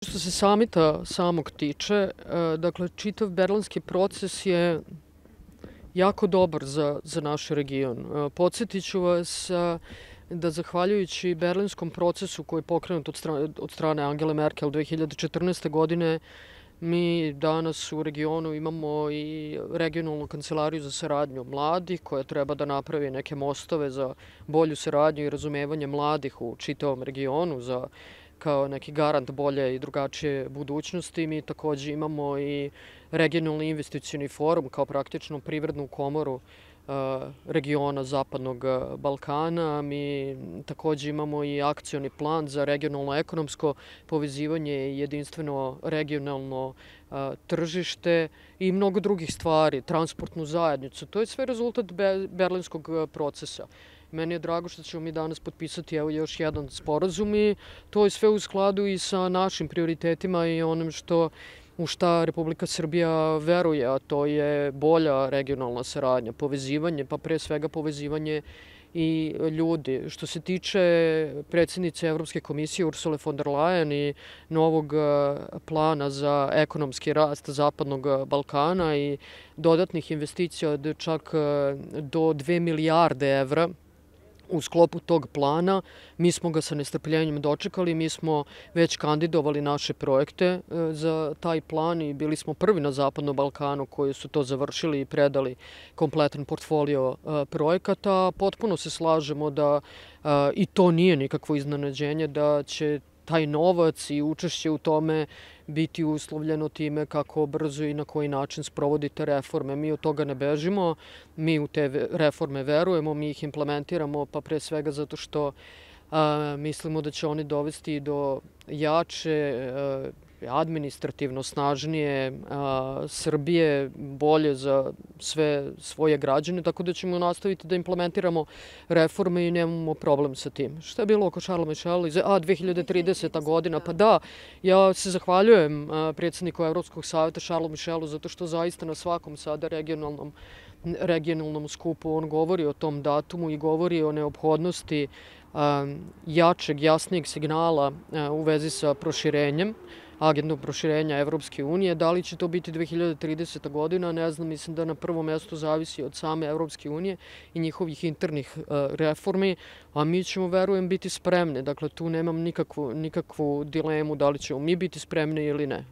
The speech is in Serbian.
Što se samita samog tiče, dakle, čitav berlinski proces je jako dobar za naš region. Podsjetit ću vas da zahvaljujući berlinskom procesu koji je pokrenut od strane Angele Merkel 2014. godine, mi danas u regionu imamo i regionalnu kancelariju za saradnju mladih koja treba da napravi neke mostove za bolju saradnju i razumevanje mladih u čitavom regionu kao neki garant bolje i drugačije budućnosti. Mi takođe imamo i regionalni investicioni forum kao praktično privrednu komoru regiona Zapadnog Balkana. Mi takođe imamo i akcioni plan za regionalno ekonomsko povezivanje i jedinstveno regionalno tržište i mnogo drugih stvari, transportnu zajednicu. To je sve rezultat berlinskog procesa. Meni je drago što ćemo mi danas potpisati još jedan sporazum i to je sve u skladu i sa našim prioritetima i onim u šta Republika Srbija veruje, a to je bolja regionalna saradnja, povezivanje, pa pre svega povezivanje i ljudi. Što se tiče predsjednice Evropske komisije Ursule von der Leyen i novog plana za ekonomski rast Zapadnog Balkana i dodatnih investicija od čak do 2 milijarde evra, u sklopu tog plana, mi smo ga sa nestrpljenjem dočekali, mi smo već kandidovali naše projekte za taj plan i bili smo prvi na Zapadnom Balkanu koji su to završili i predali kompletan portfolio projekata. Potpuno se slažemo da i to nije nikakvo iznenađenje da će taj novac i učešće u tome biti uslovljeno time kako brzo i na koji način sprovodite reforme. Mi od toga ne bežimo, mi u te reforme verujemo, mi ih implementiramo, pa pre svega zato što mislimo da će oni dovesti do jače, administrativno snažnije Srbije, bolje za sve svoje građane, tako da ćemo nastaviti da implementiramo reforme i nemamo problem sa tim. Šta je bilo oko Charlesa Michela? 2030. godina, pa da, ja se zahvaljujem predsjedniku Evropskog savjeta Charlesu Michelu zato što zaista na svakom sada regionalnom skupu on govori o tom datumu i govori o neophodnosti jačeg, jasnijeg signala u vezi sa proširenjem, agendom proširenja Evropske unije. Da li će to biti 2030. godina, ne znam, mislim da na prvom mestu zavisi od same Evropske unije i njihovih internih reformi, a mi ćemo, verujem, biti spremni. Dakle, tu nemam nikakvu dilemu da li ćemo mi biti spremni ili ne.